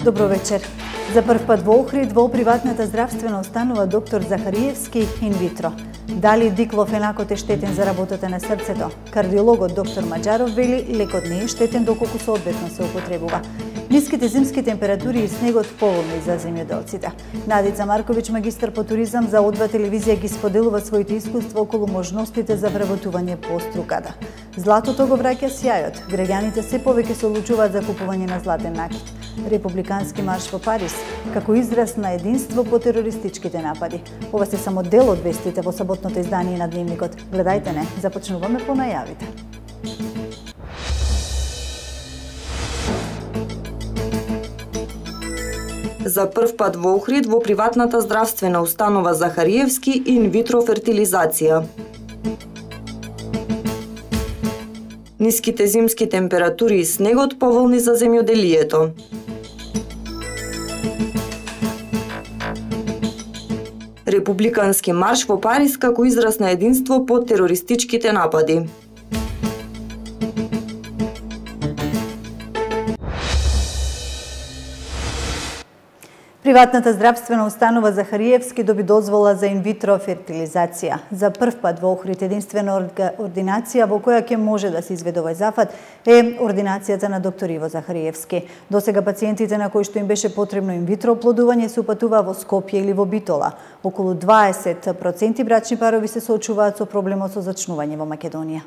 Добро вечер. За прв пат во Охрид во приватната здравствена установа доктор Захариевски инвитро. Дали диклофенакот е штетен за работата на срцето? Кардиологот доктор Маџаров вели лекот не е штетен доколку соодветно се употребува. Ниските зимски температури и снегот поволни за земјоделците. Надица Марковиќ, магистар по туризам за О2 телевизија, ги споделува своите искуства околу можностите за вработување по струката. Златото го враќа сјајот. Граѓаните се повеќе се одлучуваат за купување на златен накит. Републикански марш во Париз како израз на единство по терористичките напади. Ова се само дел од вестите во саботното издание на Дневникот. Гледајте не, започнуваме по најавите. За прв пат во Охрид во приватната здравствена установа Захариевски инвитро фертилизација. Ниските зимски температури и снегот поволни за земјоделието. Републикански марш во Париз како израз на единство по терористичките напади. Приватната здравствена установа Захариевски доби дозвола за инвитро фертилизација. За прв пат во Охрид единствена ординација во која ќе може да се изведе овој зафат е ординацијата на доктор Иво Захариевски. Досега пациентите на кои што им беше потребно инвитро оплодување се упатуваа во Скопје или во Битола. Околу 20% брачни парови се соочуваат со проблемот со зачнување во Македонија.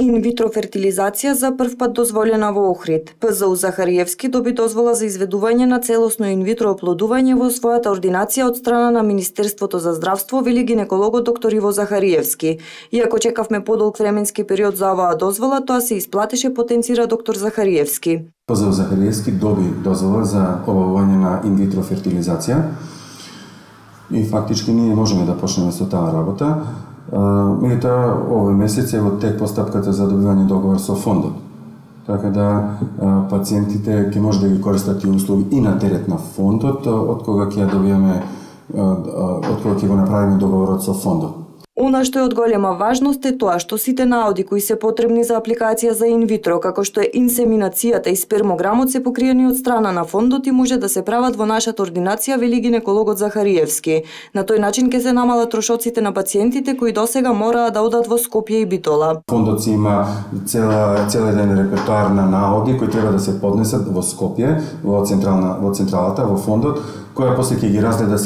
Инвитро фертилизација за прв пат дозволена во Охрид. ПЗУ Захариевски доби дозвола за изведување на целосно инвитро оплодување во својата ординација од страна на Министерството за здравство, вели гинекологот доктор Иво Захариевски. Иако чекавме подолг временски период за оваа дозвола, тоа се исплатеше, потенцира доктор Захариевски. ПЗУ Захариевски доби дозвола за обавување на инвитро фертилизација и фактички ние можеме да почнеме со таа работа. Меѓутоа, овој месец е во тек постапката за добивање договор со фондот. Така да пациентите ќе може да ги користат тие услуги и на терет на фондот, од кога ќе го направиме договорот со фондот. Она што е од голема важност е тоа што сите наоди кои се потребни за апликација за инвитро, како што е инсеминацијата и спермограмот, се покриени од страна на фондот и може да се прават во нашата ординација, вели гинекологот Захариевски. На тој начин ќе се намалат трошоците на пациентите кои досега мораа да одат во Скопје и Битола. Фондот си има цел еден репертоар на наоди кои треба да се поднесат во Скопје, во централата, во фондот, која после ќе ги разгледа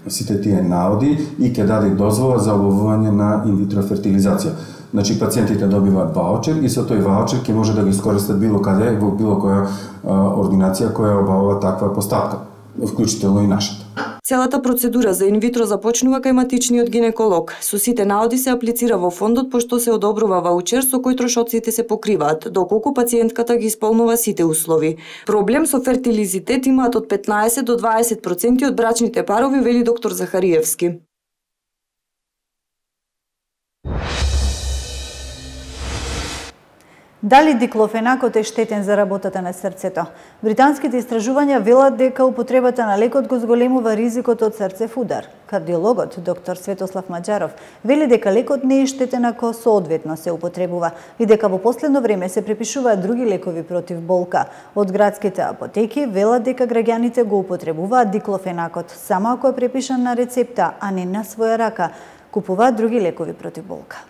сите тие наоди и ќе даде дозвола за обавување на инвитро фертилизација. Значи, пациентите добиваат ваучер и со тој ваучер ќе може да го искористат било каде, во било која ординација која обавува таква постапка, вклучително и нашата. Целата процедура за инвитро започнува кај матичниот гинеколог. Со сите наоди се аплицира во фондот, пошто се одобрува ваучер со кој трошоците се покриваат, доколку пациентката ги исполнува сите услови. Проблем со фертилизитет имаат од 15 до 20% од брачните парови, вели доктор Захариевски. Дали диклофенакот е штетен за работата на срцето? Британските истражувања велат дека употребата на лекот го зголемува ризикот од срцев удар. Кардиологот доктор Светослав Маџаров вели дека лекот не е штетен ако соодветно се употребува и дека во последно време се препишуваат други лекови против болка. Од градските апотеки велат дека граѓаните го употребуваат диклофенакот само ако е препишан на рецепта, а не на своја рака. Купуваат други лекови против болка.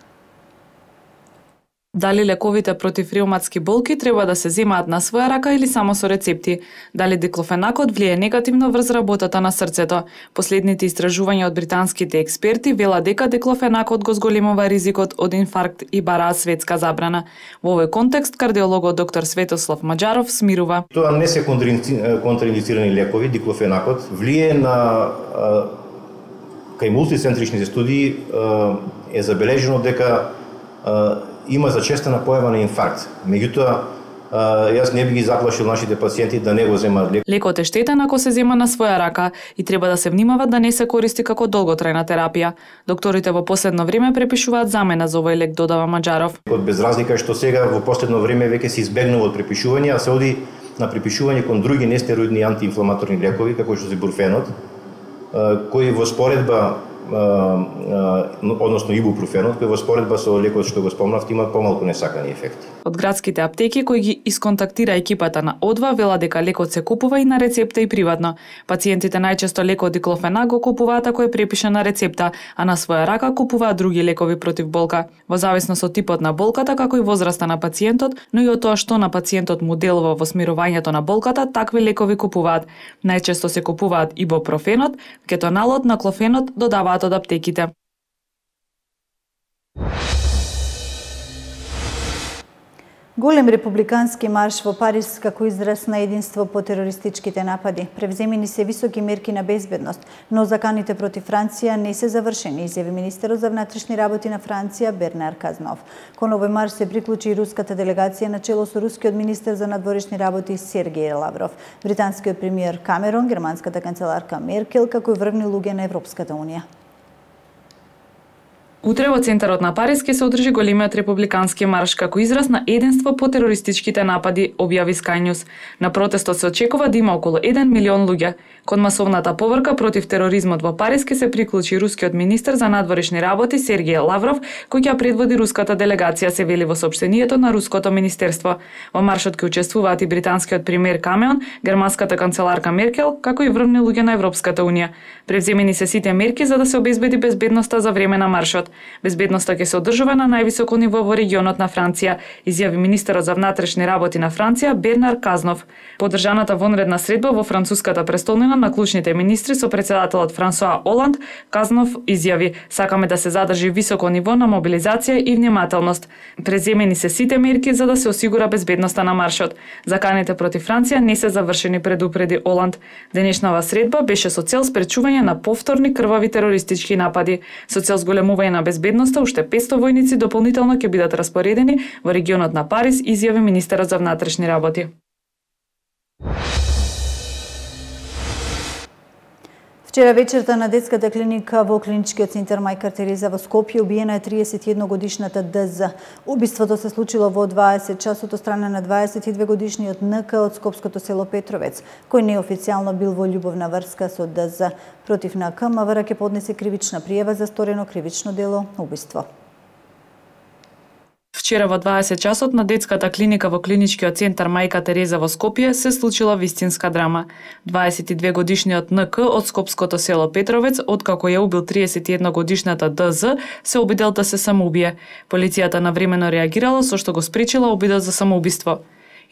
Дали лековите против реуматски болки треба да се земаат на своја рака или само со рецепти? Дали диклофенакот влие негативно врз работата на срцето? Последните истражувања од британските експерти велат дека диклофенакот го зголемува ризикот од инфаркт и бараат светска забрана. Во овој контекст кардиологот доктор Светослав Маџаров смирува. Тоа не се контраиндицирани лекови, диклофенакот влие на кај мултицентричните студии е забележено дека има зачестена појава на инфаркт. Меѓутоа, јас не би ги заплашил нашите пациенти да не го земаат лек. Лекот е штетен ако се зема на своја рака и треба да се внимава да не се користи како долготрајна терапија. Докторите во последно време препишуваат замена за овој лек, додава Маџаров. Без разлика што сега во последно време веќе се избегнува од препишување, а се оди на препишување кон други нестероидни антиинфламаторни лекови, како што се бурфенот, кои во споредба односно ибупрофенот, кој во споредба со лекот што го спомнавте има помалку несакани ефекти. Од градските аптеки кои ги исконтактира екипата на О2 вела дека лекот се купува и на рецепта и приватно. Пациентите најчесто лекот диклофенак го купуваат ако е препишан на рецепта, а на своја рака купуваат други лекови против болка. Во зависност од типот на болката, како и возраста на пациентот, но и од тоа што на пациентот му делува во смирувањето на болката, такви лекови купуваат. Најчесто се купуваат ибупрофенот, кетоналот, наклофенот додаваат од аптеките. Голем републикански марш во Париз како израз на единство по терористичките напади. Превземени се високи мерки на безбедност, но заканите против Франција не се завршени, изјави министерот за внатрешни работи на Франција Бернар Казнов. Кон овој марш се приклучи и руската делегација на чело со рускиот министер за надворешни работи Сергеј Лавров, британскиот премиер Камерон, германската канцеларка Меркел, како и врвни луѓе на Европската унија. Утре во центарот на Париз ќе се одржи големиот републикански марш како израз на единство по терористичките напади, објави Sky News. На протестот се очекува да има околу 1 милион луѓе. Кон масовната поврка против тероризмот во Париз ќе се приклучи рускиот министер за надворешни работи Сергеј Лавров, кој ќе предводи руската делегација, се вели во соопштението на руското министерство. Во маршот ќе учествуваат и британскиот премиер Камерон, германската канцеларка Меркел, како и врвни луѓе на Европската унија. Превземени се сите мерки за да се обезбеди безбедноста за време на маршот. Безбедноста ќе се одржува на највисоко ниво во регионот на Франција, изјави министерот за внатрешни работи на Франција Бернар Казнов. Подржаната вонредна средба во француската престолнина на клучните министри со председателот Франсоа Оланд, Казнов изјави: "Сакаме да се задржи високо ниво на мобилизација и внимателност. Преземени се сите мерки за да се осигура безбедноста на маршот. Заканите против Франција не се завршени, предупреди Оланд. Денешнава средба беше со цел спречување на повторни крвави терористички напади. Со цел зголемување на безбедноста, уште 500 војници дополнително ќе бидат распоредени во регионот на Париз, изјави министерот за внатрешни работи. Вчера вечерта на детската клиника во клиничкиот центар Мајка Тереза во Скопје убиена е 31-годишната ДЗ. Убиството се случило во 20 часот од страна на 22-годишниот НК од скопското село Петровец, кој неофицијално бил во љубовна врска со ДЗ. Против НК МВР ќе поднесе кривична пријава за сторено кривично дело убиство. Вчера во 20 часот на детската клиника во клиничкиот центар Мајка Тереза во Скопје се случила вистинска драма. 22-годишниот НК од скопското село Петровец, откако ја убил 31-годишната ДЗ, се обидел да се самоубие. Полицијата навремено реагирала со што го спречила обидот за самоубиство.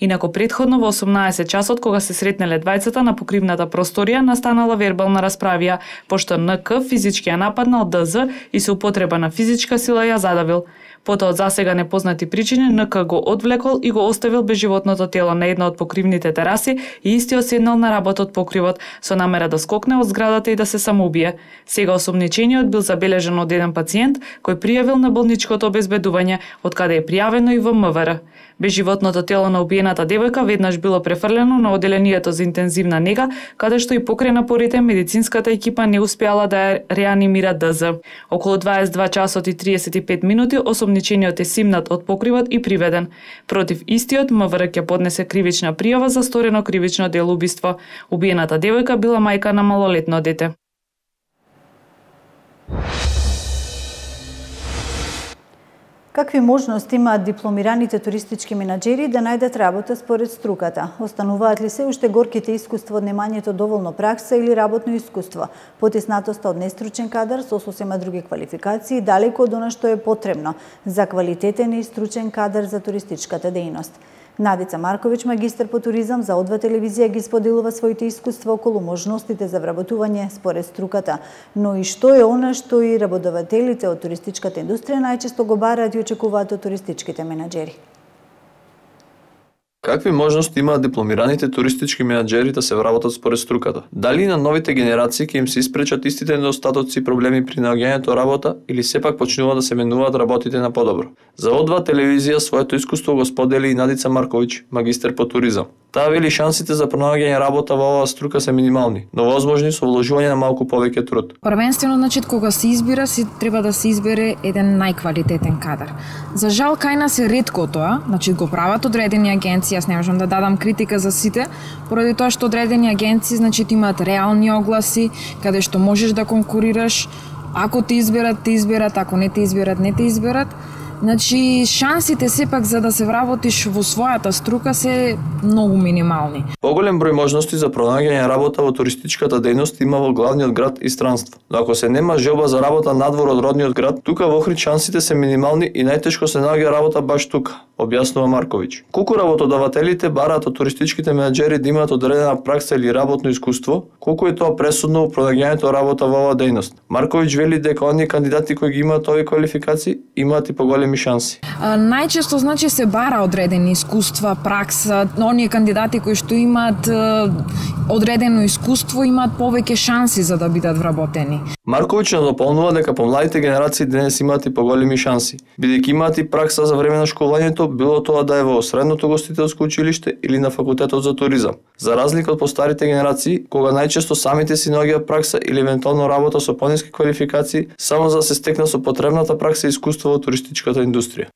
Инаку предходно во 18 часот, кога се сретнеле двајцата на покривната просторија, настанала вербална расправија, пошто НК физички ја нападнал ДЗ и со употреба на физичка сила ја задавил. Потоа од засега непознати причини НК го одвлекол и го оставил безживотното тело на една од покривните тераси и истиот седнал на работ од покривот со намера да скокне од зградата и да се самоубие. Сега осомничениот бил забележан од еден пациент кој пријавил на болничкото обезбедување, од каде е пријавено и во МВР. Безживотното тело на убиената девојка веднаш било префрлено на оделението за интензивна нега, каде што и покрај напорите медицинската екипа не успеала да ја реанимира ДЗ. Околу 22 часот и 35 минути осомничениот е симнат од покривот и приведен. Против истиот МВР ќе поднесе кривична пријава за сторено кривично дело убиство. Убиената девојка била мајка на малолетно дете. Какви можности имаат дипломираните туристички менаџери да најдат работа според струката? Остануваат ли се уште горките искуства од немањето доволно пракса или работно искуство? Потиснатоста од нестручен кадар со сосема други квалификации далеко од она што е потребно за квалитетен и стручен кадар за туристичката дејност. Надица Марковиќ, магистар по туризам за О2 телевизија, ги споделува своите искуства околу можностите за вработување според струката, но и што е она што и работодателите од туристичката индустрија најчесто го бараат и очекуваат од туристичките менаџери. Какви можности имаат дипломираните туристички менаџери да се вработат според струката? Дали на новите генерации ќе им се испречат истите недостатоци и проблеми при наоѓањето работа или сепак почнуваат да се менуваат работите на подобро? За О2 телевизија своето искуство го сподели и Надица Марковиќ, магистер по туризам. Таа вели шансите за пронаоѓање работа во оваа струка се минимални, но возможни со вложување на малку повеќе труд. Првенствено, кога се избира, треба да се избере еден најквалитетен кадар. За жал кај нас е ретко тоа, го прават одредени агенции, јас не можам да дадам критика за сите, поради тоа што одредени агенции имаат реални огласи, каде што можеш да конкурираш, Ако те изберат, ако не те изберат, не те изберат. Значи, шансите сепак за да се вработиш во својата струка се многу минимални. Поголем број можности за пронаѓање работа во туристичката дејност има во главниот град и странство. Но ако се нема желба за работа надвор од родниот град, тука во Охрид шансите се минимални и најтешко се наоѓа работа баш тука, објаснува Марковиќ. Колку работодавателите бараат од туристичките менаџери да имаат одредена пракса или работно искуство, колку е тоа пресудно во пронаѓањето работа во оваа дејност. Марковиќ вели дека оние кандидати кои ги имаат овие квалификации имаат и поголеми шанси. Најчесто значи се бара одредени искуства, пракса, оние кандидати кои што имаат одредено искуство имаат повеќе шанси за да бидат вработени. Марковиќ дополнува дека помладите генерации денес имаат и поголеми шанси, бидејќи имаат и пракса за време на школувањето, било тоа да е во средното гостителско училиште или на факултетот за туризам. За разлика од постарите генерации, кога најчесто самите си наоѓаат пракса или евентуално работа со пониски квалификации, само за да се стекна со потребната пракса и искуство во туристичката индустрија.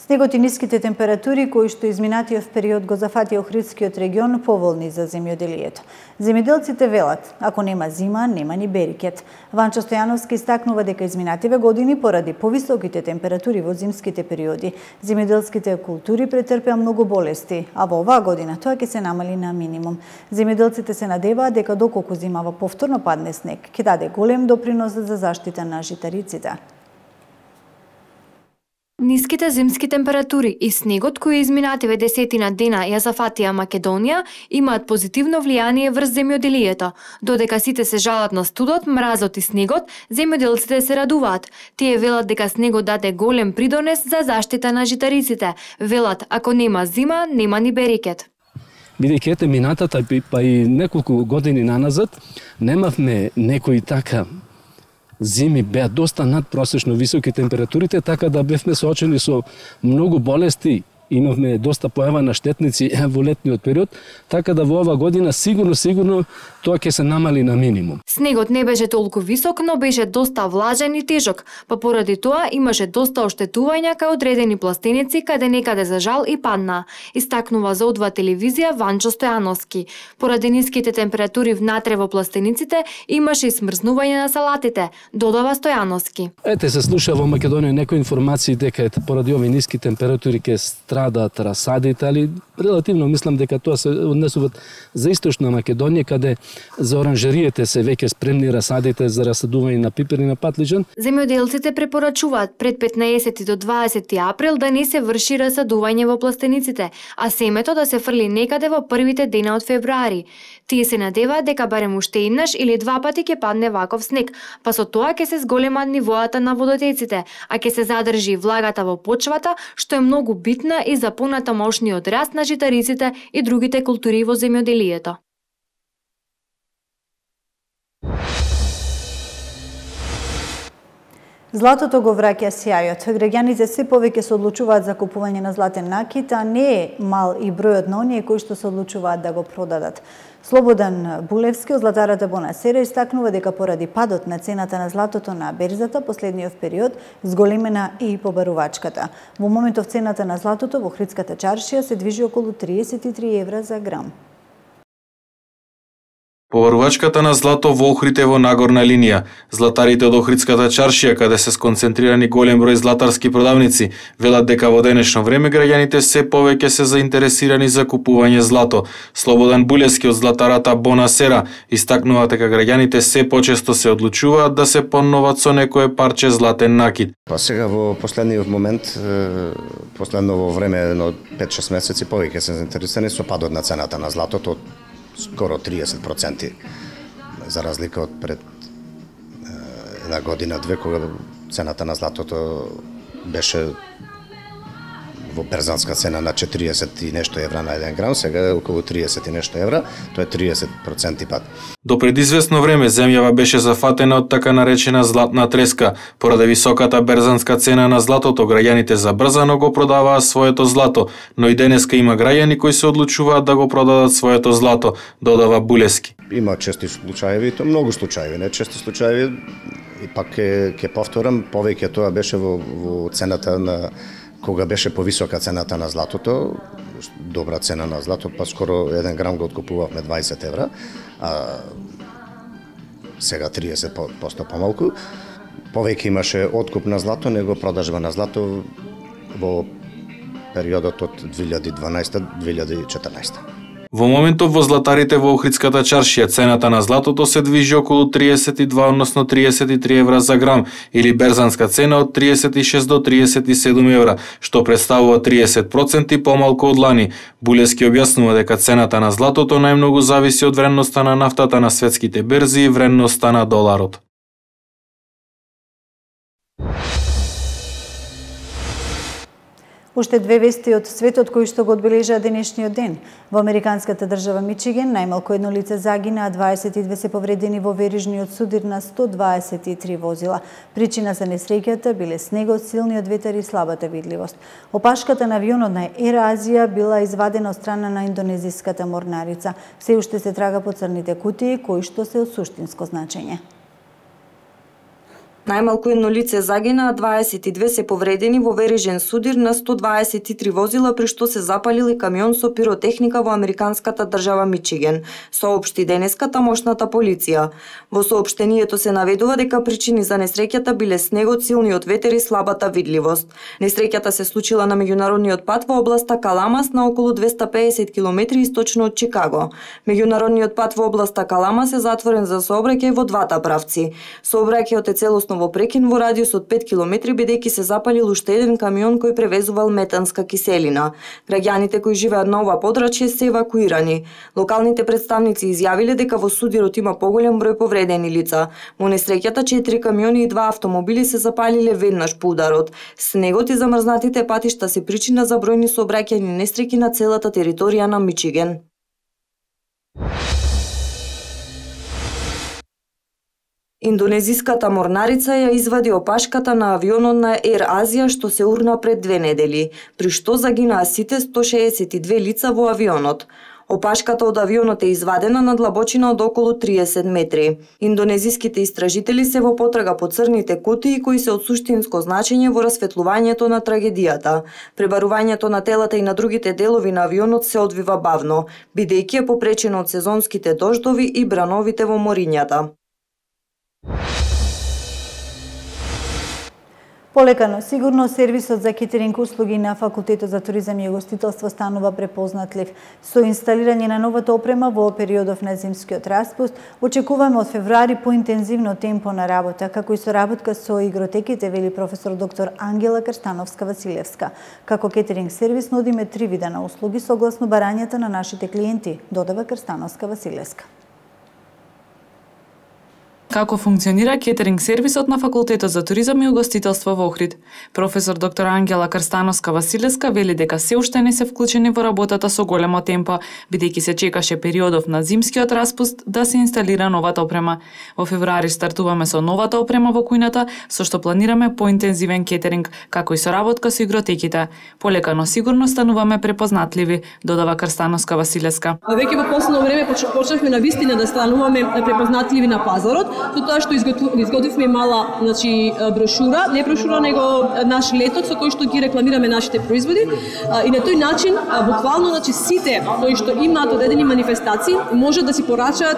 Снегот и ниските температури кои што изминатиот период го зафатија Охридскиот регион поволни за земјоделието. Земјоделците велат, ако нема зима, нема ни берикет. Ванчо Стојановски истакнува дека изминативе години поради повисоките температури во зимските периоди, земјоделските култури претрпеа многу болести, а во оваа година тоа ќе се намали на минимум. Земјоделците се надеваат дека доколку зимава повторно падне снег, ќе даде голем допринос за заштита на житариците. Ниските зимски температури и снегот кои изминативе десетина дена ја зафатија Македонија имаат позитивно влијание врз земјоделието. Додека сите се жалат на студот, мразот и снегот, земјоделците се радуваат. Тие велат дека снегот даде голем придонес за заштита на житариците. Велат, ако нема зима, нема ни берикет. Бидејќи ете минатата па и неколку години наназад немавме некои така зими беа доста надпросечно високи температурите, така да бевме соочени со многу болести, имавме доста појава на штетници во летниот период, така да во ова година сигурно тоа ќе се намали на минимум. Снегот не беше толку висок, но беше доста влажен и тежок, па поради тоа имаше доста оштетувања кај одредени пластеници каде некаде за жал и падна, истакнува за О2 телевизија Ванчо Стојановски. Поради ниските температури внатре во пластениците имаше и смрзнување на салатите, додава Стојановски. Ете се слуша во Македонија некои информации дека поради овие ниски температури ќе страдаат расадите, али релативно мислам дека тоа се однесуваат за источна Македонија, каде за оранжериите се веќе спремни расадите за расадување на пипер и на патлиџан. Земјоделците препорачуваат пред 15 до 20 април да не се врши расадување во пластениците, а семето да се фрли некаде во првите дена од февруари. Тие се надеваат дека барем уште еднаш или два пати ќе падне ваков снег, па со тоа ќе се зголемат нивоата на водотеците, а ќе се задржи влагата во почвата, што е многу битна и за понатамошниот раст на житариците и другите култури во земјоделието. Златото го враќа сјајот. Граѓаните се повеќе се одлучуваат за купување на златен накит, а не е мал и бројот на оние кои што се одлучуваат да го продадат. Слободан Булевски од златарата Бонасера истакнува дека поради падот на цената на златото на берзата последниот период зголемена и побарувачката. Во моментов цената на златото во Охридската чаршија се движи околу 33 евра за грам. Побарувачката на злато во Охрид е во нагорна линија. Златарите од Охридската чаршија, каде се сконцентрирани голем број златарски продавници, велат дека во денешно време граѓаните се повеќе се заинтересирани за купување злато. Слободан Булевски од златарата Бонасера истакнува дека граѓаните се почесто се одлучуваат да се понноват со некое парче златен накит. Па сега во последниот момент, последно во време на 5-6 месеци повеќе се заинтересирани со падот на цената на златото, скоро 30%, за разлика од пред една година-две, кога цената на златото беше во берзанска цена на 40 и нешто евра на 1 грам, сега е околу 30 и нешто евра, тоа е 30% пат. До пред известно време земјава беше зафатена од така наречена златна треска. Поради високата берзанска цена на златото, граѓаните забрзано го продаваа своето злато, но и денеска има граѓани кои се одлучуваат да го продадат своето злато, додава Булевски. Има чести случаеви, то многу случаеви, не чести случаеви, и пак ќе повторам, повеќе тоа беше во цената на кога беше повисока цената на златото, добра цена на злато, па скоро 1 грам го откупувавме 20 евра, а сега 30% помалку. Повеќе имаше откуп на злато него продажба на злато во периодот од 2012-2014. Во моментов во златарите во Охридската чаршија цената на златото се движи околу 32, односно 33 евра за грам, или берзанска цена од 36 до 37 евра, што представува 30% помалку од лани. Булевски објаснува дека цената на златото најмногу зависи од вредноста на нафтата на светските берзи и вредноста на доларот. Уште две вести од светот кои што го одбележаа денешниот ден. Во американската држава Мичиген најмалку едно лице загина, а 22 се повредени во верижниот судир на 123 возила. Причина за несреќата биле снегот, силниот ветер и слабата видливост. Опашката на авионот на Ер Азија била извадена од страна на индонезиската морнарица. Се уште се трага по црните кутии кои што се од суштинско значење. Најмалку едно лице загина, а 22 се повредени во верижен судир на 123 возила, при што се запалил и камион со пиротехника во американската држава Мичиген, соопшти денеска тамошната полиција. Во соопштението се наведува дека причини за несреќата биле снегот, силниот ветер и слабата видливост. Несреќата се случила на меѓународниот пат во областа Каламас на околу 250 км источно од Чикаго. Меѓународниот пат во областа Каламас е затворен за сообраќај во двата правци. Сообраќајот е целосно во прекин во радиус од 5 км, бидејќи се запалил уште еден камион кој превезувал метанска киселина. Граѓаните кои живеат на ова подрачје се евакуирани. Локалните представници изјавиле дека во судирот има поголем број повредени лица. Во несреќата 4 камиони и 2 автомобили се запалиле веднаш по ударот. Снегот и замрзнатите патишта се причина за бројни сообраќајни несреќи на целата територија на Мичиген. Индонезиската морнарица ја извади опашката на авионот на Ер Азија што се урна пред 2 недели, при што загинаа сите 162 лица во авионот. Опашката од авионот е извадена на длабочина од околу 30 метри. Индонезиските истражители се во потрага по црните кутии кои се од суштинско значење во расветлувањето на трагедијата. Пребарувањето на телата и на другите делови на авионот се одвива бавно, бидејќи е попречено од сезонските дождови и брановите во морињата. Полека, но сигурно сервисот за кетеринг услуги на Факултетот за туризам и угостителство станува препознатлив. Со инсталирање на новата опрема во периодов на зимскиот распуст, очекуваме од февруари поинтензивно темпо на работа, како и соработка со игротеките, вели професор доктор Ангела Крстановска-Василевска. Како кетеринг сервис нудиме 3 вида на услуги согласно барањата на нашите клиенти, додава Крстановска-Василевска. Како функционира кетеринг сервисот на Факултетот за туризам и угостителство во Охрид? Професор доктор Ангела Крстановска-Василевска вели дека се уште не се вклучени во работата со големо темпо, бидејќи се чекаше периодов на зимскиот распуст да се инсталира новата опрема. Во февруари стартуваме со новата опрема во кујната, со што планираме поинтензивен кетеринг, како и соработка со игротеките. Полека, но сигурно стануваме препознатливи, додава Крстановска-Василевска. Веќе во последно време почнавме на вистина да стануваме препознатливи на пазарот, со тоа што изготвивме мала, брошура, не брошура, него наш леток со кој што ги рекламираме нашите производи, и на тој начин буквално сите кои што имаат одредени манифестации може да си порачаат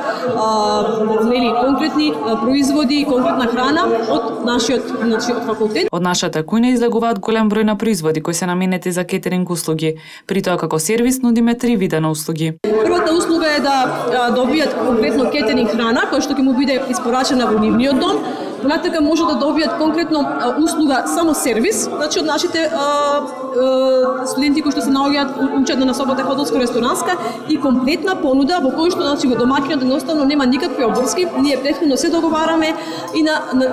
конкретни производи, конкретна храна од нашиот од факултет. Од нашата кујна излегуваат голем број на производи кои се наменети за кетеринг услуги. При тоа како сервис нудиме 3 вида на услуги. Првата услуга е да добијат конкретно кетеринг храна која што ќе му биде испорачена во нивниот дом. Понатака може да добијат конкретно услуга само сервис, од нашите студенти кои што се наоѓаат учат на насоката хотелско-ресторанска и комплетна понуда во кој што го домаќинот едноставно нема никакви обврски. Ние претходно се договараме и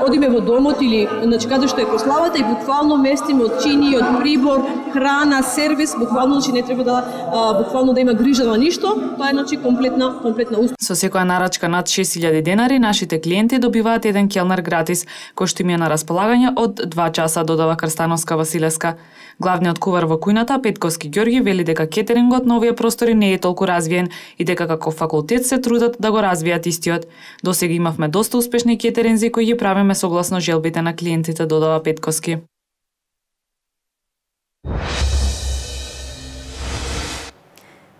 одиме во домот или каде што е прославата и буквално местиме од чини, од прибор, храна, сервис, буквално не треба да има грижа на ништо. Тоа е комплетна услуга. Со секоја нарачка над 6000 денари нашите клиенти добиваат еден келнер гратис, кој што им е на располагање од 2 часа, додава Крстановска-Василевска. Главниот кувар во кујната, Петковски Ѓорги, вели дека кетерингот на овие простори не е толку развиен и дека како факултет се трудат да го развијат истиот. Досега имавме доста успешни кетеринзи кои ги правиме согласно желбите на клиентите, додава Петковски.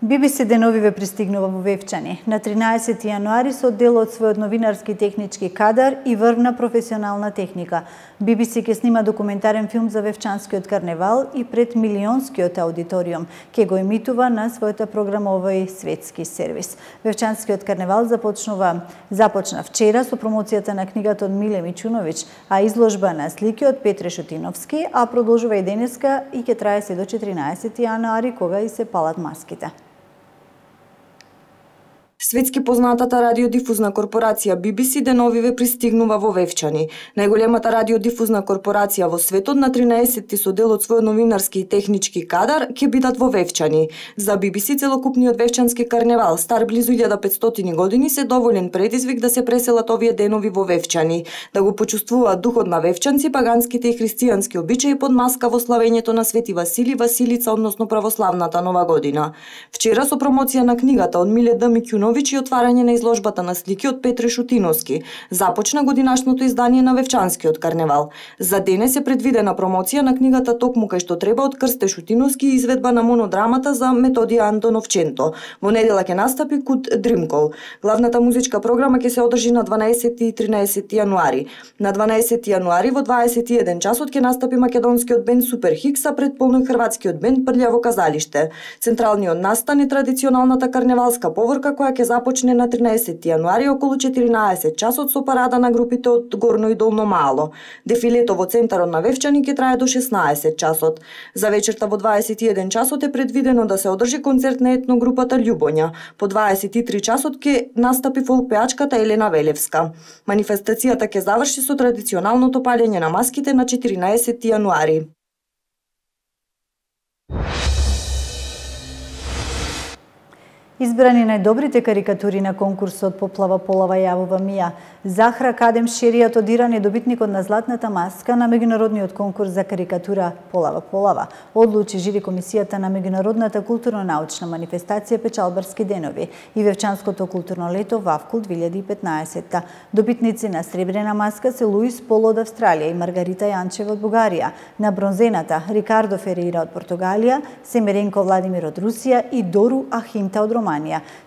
BBC деновиве пристигнува во Вевчани. На 13 јануари со дел од својот новинарски технички кадар и врвна професионална техника. BBC ќе снима документарен филм за Вевчанскиот карневал и пред милионскиот аудиториум. Ќе го емитува на својата програма овој светски сервис. Вевчанскиот карневал започна вчера со промоцијата на книгата од Миле Мичуновиќ, а изложба на слики од Петре Шутиновски, а продолжува и денеска и ќе трае се до 14 јануари кога и се палат маските. Светски познатата радиодифузна корпорација BBC деновиве пристигнува во Вевчани. Најголемата радиодифузна корпорација во светот на 13 со дел од својот новинарски и технички кадар ќе бидат во Вевчани. За BBC целокупниот Вевчански карневал, стар близу 1500 години, се доволен предизвик да се преселат овие денови во Вевчани, да го почувствуваат духот на вевчанци, паганските и христијански обичаи под маска во славењето на Свети Васили, Василица, односно православната нова година. Вчера со промоција на книгата од Миле Мичуновиќ и отварање на изложбата на слики од Петре Шутиновски, започна годинашното издание на Вевчанскиот карневал. За денес е предвидена промоција на книгата Токму кај што треба од Крсте Шутиновски и изведба на монодрамата за Методија Антоновченто. Во недела ќе настапи Кут Дримкол. Главната музичка програма ќе се одржи на 12 и 13 јануари. На 12 јануари во 21 часот ќе настапи македонскиот бенд Супер Хикс, а предполно и хрватскиот бенд Прљаво казалиште. Централниот настан е традиционалната карневалска поворка која ќе започне на 13 јануари околу 14 часот со парада на групите од Горно и Долно Мало. Дефилето во центарот на Вевчани ќе трае до 16 часот. За вечерта во 21 часот е предвидено да се одржи концерт на етногрупата Љубоња. По 23 часот ќе настапи фолк пеачката Елена Велевска. Манифестацијата ќе заврши со традиционалното палење на маските на 14 јануари. Избрани најдобрите карикатури на конкурсот Поплава Полава јавува Мија. Захра Кадем Шеријат од Иран е добитникот на златната маска на меѓународниот конкурс за карикатура Полава Полава. Одлучи жири комисијата на меѓународната културно-научна манифестација Печалбарски денови и Вевчанското културно лето Вавкул 2015. Добитници на сребрена маска се Луис Поло од Австралија и Маргарита Јанчева од Бугарија. На бронзената Рикардо Ферейра од Португалија, Семеренко Владимир од Русија и Дору Ахинта од Романија.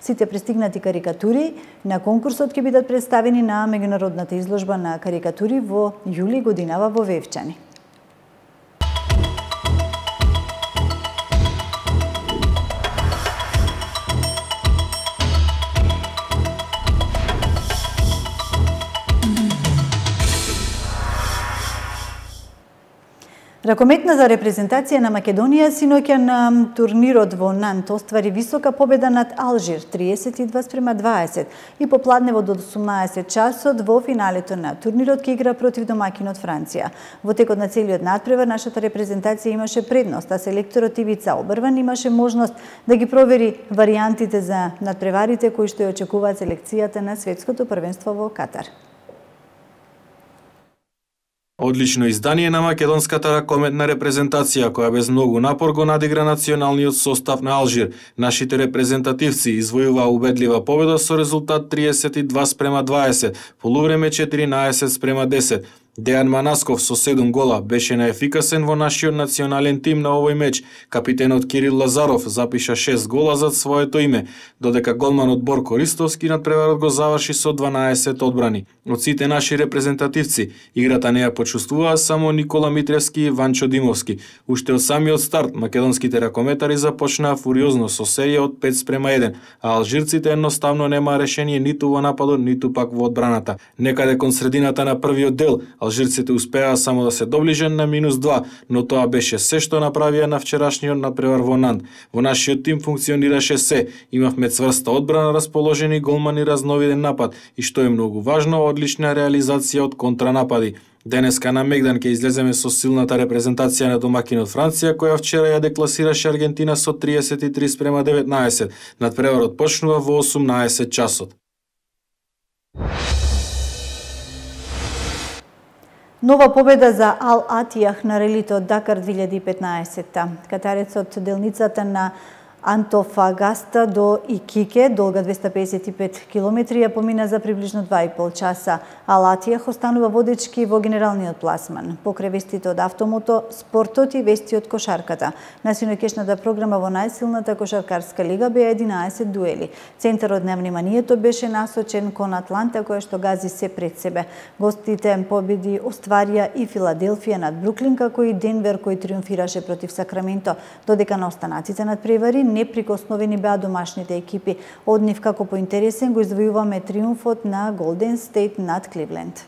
Сите пристигнати карикатури на конкурсот ќе бидат представени на меѓународната изложба на карикатури во јули годинава во Вевчани. Ракометната репрезентација на Македонија синоќа на турнирот во Нант оствари висока победа над Алжир 32:20 и попладнево до 18 часот во финалето на турнирот ќе игра против домакинот Франција. Во текот на целиот натпревар нашата репрезентација имаше предност, а селекторот Ивица Обрван имаше можност да ги провери варијантите за натпреварите кои што ја очекуваат селекцијата на светското првенство во Катар. Одлично издание на македонската ракометна репрезентација, која без многу напор го надигра националниот состав на Алжир. Нашите репрезентативци извојуваа убедлива победа со резултат 32:20, полувреме 14:10. Дејан Манасков со 7 гола беше наефикасен во нашиот национален тим на овој меч. Капитенот Кирил Лазаров запиша 6 гола за своето име, додека голманот Борко Ристовски надпреварот го заврши со 12 одбрани. Од сите наши репрезентативци, играта не ја почувствуваа само Никола Митревски и Ванчо Димовски. Уште од самиот старт, македонските ракометари започнаа фуриозно со серија од 5:1, а алжирците едноставно немаа решение ниту во нападот, ниту пак во одбраната. Некаде кон средината на првиот дел, алжирците успеа само да се доближат на -2, но тоа беше се што направија на вчерашниот надпревар во Нант. Во нашиот тим функционираше се, имавме цврста одбрана, расположени голмани, разновиден напад и што е многу важно, одлична реализација од контранапади. Денеска на Мегдан ќе излеземе со силната репрезентација на домакинот Франција, која вчера ја декласираше Аргентина со 33:19. Надпреварот почнува во 18 часот. Нова победа за Ал Атијах на релито Дакар 2015. Катарецот делницата на Антофагаста до Икике, долга 255 километри, ја помина за приближно 2,5 часа, а Латијах останува водечки во генералниот пласман. Покрај вестите од автомото, спортот и вести од кошарката. На синокешната програма во најсилната кошаркарска лига беа 11 дуели. Центарот на вниманието беше насочен кон Атланта, која што гази се пред себе. Гостите победи остварија и Филаделфија над Бруклин, како и Денвер кој триумфираше против Сакраменто, додека на останаците надпревари неприкосновени беа домашните екипи. Од нив како поинтересен го издвојуваме триумфот на Голден Стейт над Кливленд.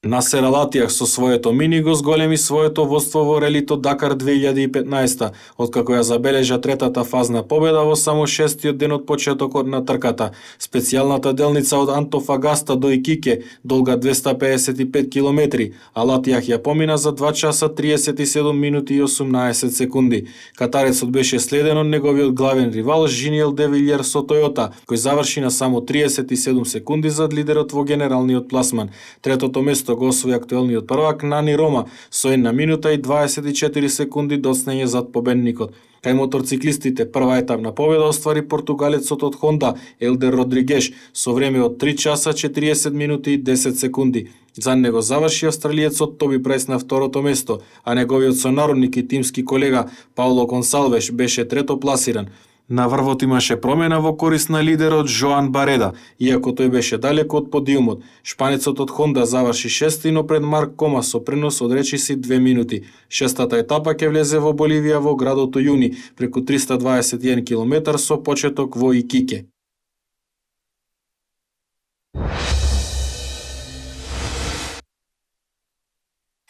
Насер Ал Аттијах со своето мини го зголеми своето водство во релито Дакар 2015, откако ја забележа третата фазна победа во само 6-тиот ден од почетокот на трката. Специјалната делница од Антофагаста до Икике, долга 255 километри, Ал Аттијах ја помина за 2 часа 37 минути и 18 секунди. Катарецот беше следен од неговиот главен ривал Жиниел де Вилјер со Тојота, кој заврши на само 37 секунди зад лидерот во генералниот пласман. Третото место го освои актуелниот првак Нани Рома со 1 минута и 24 секунди доцнење зад победникот. Кај моторциклистите прва етапна победа оствари португалецот од Хонда Елдер Родригеш со време од 3 часа 40 минути и 10 секунди. За него заврши австралиецот Тоби Прайс на второто место, а неговиот сонародник и тимски колега Пауло Консалвеш беше трето пласиран. На врвот имаше промена во корист на лидерот Жоан Бареда, иако тој беше далеко од подиумот. Шпанецот од Хонда заврши шести, но пред Марк Кома со пренос од речиси 2 минути. Шестата етапа ќе влезе во Боливија во градот Ујуни, преку 321 км со почеток во Икике.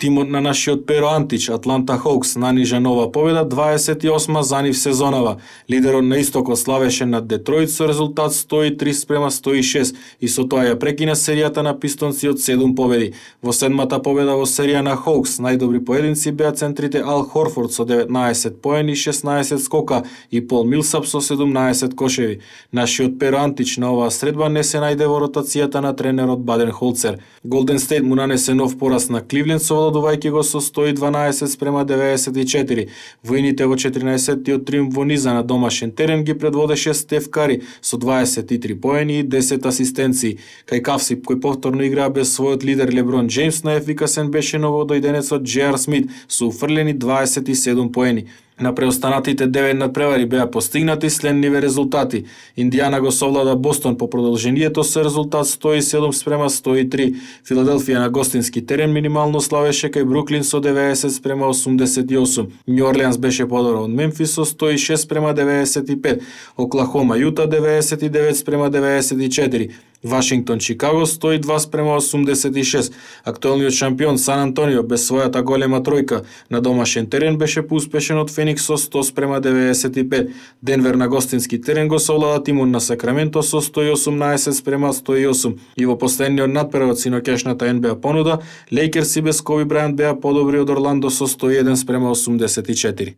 Тимот на нашиот Перо Антич, Атланта Хоукс, нанижа нова победа, 28-ма за нив сезонава. Лидерот на истокот славеше над Детройт со резултат 103-106 и со тоа ја прекина серијата на пистонци од 7 победи. Во седмата победа во серија на Хоукс, најдобри поединци беа центрите Ал Хорфорд со 19 поени и 16 скока и Пол Милсап со 17 кошеви. Нашиот Перо Антич на оваа средба не се најде во ротацијата на тренерот Баден Холцер. Голден Стейт му нанесе нов пораз на Кливленд со владувајќи го со 112-94. Војните во 14-тиот триумф во низа на домашен терен ги предводеше Стеф Кари со 23 поени и 10 асистенции. Кај Кавси, кој повторно играа без својот лидер Леброн Джеймс, најефикасен беше новодојденецот J.R. Смит со уфрлени 27 поени. На преостанатите 9 надпревари беа постигнати следниве резултати. Индијана го совлада Бостон по продолжението со резултат 107-103. Филаделфија на гостински терен минимално славеше кај Бруклин со 90-88. Нью Орлеанс беше подобро од Мемфис со 106-95. Оклахома Јута 99-94. Вашингтон Чикаго 102-86. Актуелниот шампион Сан Антонио без својата голема тројка на домашен терен беше поуспешен од Феникс со 100-95. Денвер на гостински терен го совлада тимот на Сакраменто со 118-108. И во последниот надпревар од синокешната НБА понуда, Лейкерси без Коби Брајант беа подобри од Орландо со 101-84.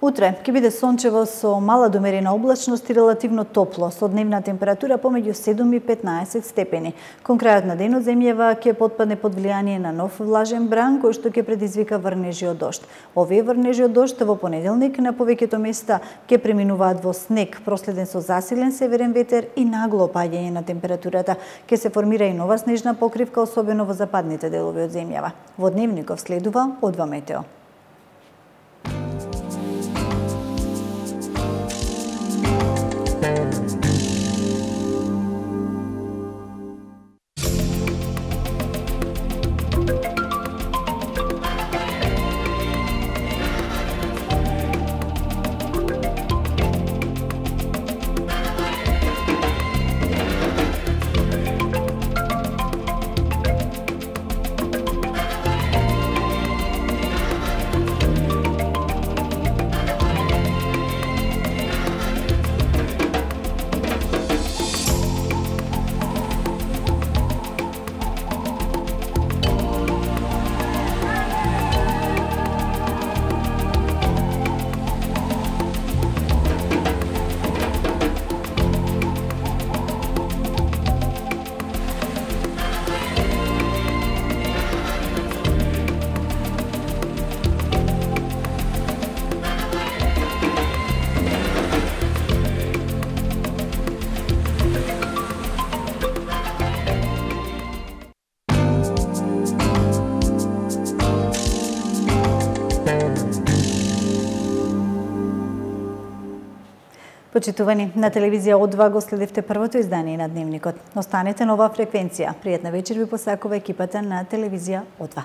Утре ќе биде сончево со мала до умерена облачност и релативно топло, со дневна температура помеѓу 7 и 15 степени. Кон крајот на денот земјава ќе потпадне под влијание на нов влажен бран, кој што ќе предизвика врнежи од дожд. Овие врнежи од дожд во понеделник на повеќето места ќе преминуваат во снег, проследен со засилен северен ветер и нагло опаѓање на температурата. Ќе се формира и нова снежна покривка, особено во западните делови од земјава. Во дневников следува Одва Метео. Почитувани, на телевизија О2 го следевте првото издание на Дневникот. Останете на оваа фреквенција. Пријатна вечер ви посакува екипата на телевизија О2.